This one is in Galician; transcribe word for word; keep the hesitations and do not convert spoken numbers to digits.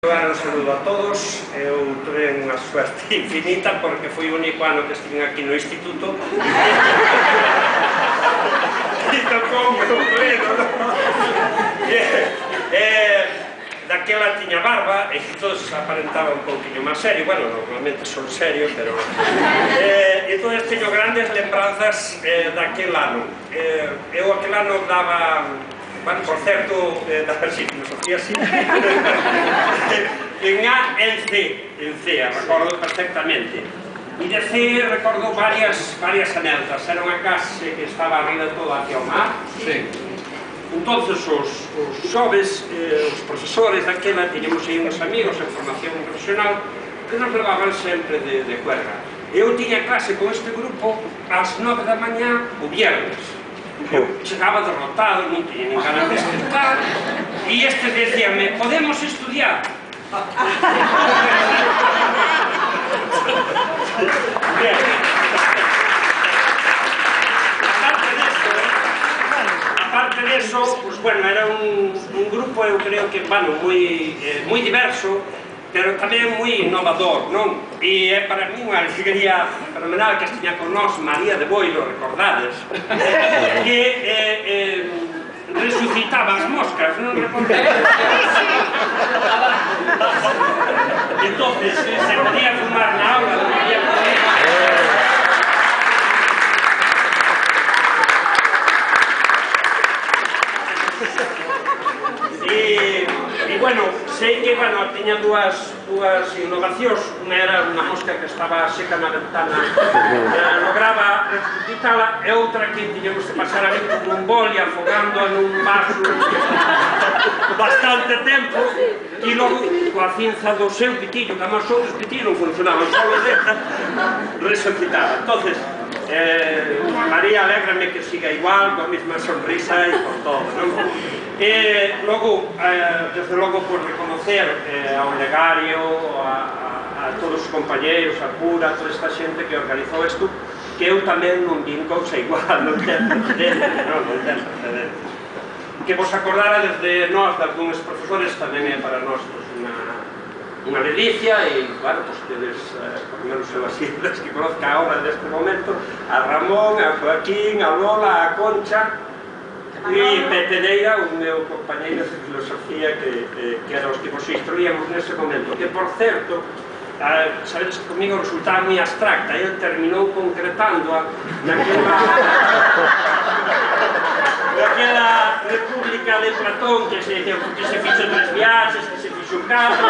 Un saludo a todos. Eu tuve unha suerte infinita porque foi o único ano que estive aquí no instituto e tocou un pleno, daquela tiña barba e todos aparentaba un pouquinho máis serio. Bueno, normalmente son serios, pero entón teño grandes lembranzas daquel ano. Eu aquel ano daba... Bueno, por certo, da filosofía sí, en A e en C, en C, recordo perfectamente. E de C recordo varias varias anécdotas. Era unha clase que estaba arriba toda hacia o mar. Entonces, os xoves, os profesores daquela, teníamos aí uns amigos en formación profesional que nos levaban sempre de cuerga. Eu tiña clase con este grupo ás nove da mañá o viernes. Eu chegaba derrotado, non tiña nin ganas de escritar, e este decíame, podemos estudiar? Aparte de eso, pues bueno, era un grupo, eu creo que, bueno, moi diverso, pero tamén moi innovador, non? E é para mí unha alegría fenomenal que estiña con nós María de Boiro, recordades, que resucitaba as moscas, non recordades? Entón, se podía fumar na aula, non podía poder... E, bueno, sei que, bueno, tiña dúas innovacións. Unha era unha mosca que estaba seca na ventana, lograba resucitala, e outra que tiñamos que pasar ali con un boli afogándoa nun vaso bastante tempo, e logo, coa cinza do seu pitillo, que además outros pitillos non funcionaban, só o desta, resucitaba. Entonces, María, alégrame que siga igual, coa mesma sonrisa e por todo, non? E logo, desde logo, por reconocer ao legario, a todos os compañeros, a Pura, a toda esta xente que organizou isto, que eu tamén non vin cousa igual, non ten precedente, non ten precedente. Que vos acordara desde nós, de algúns profesores, tamén é para nós unha ledicia, e, claro, pues tedes, por menos eu así, das que conozca ahora deste momento, a Ramón, a Joaquín, a Lola, a Concha, e Pepe Neira, o meu compañeiro de filosofía, que era os que vos instruíamos nese momento, que, por certo, sabedes que comigo resultaba moi abstracta, e ele terminou concretándoa naquela naquela república de Platón, que se fixo tres viaxes, que se fixo catro,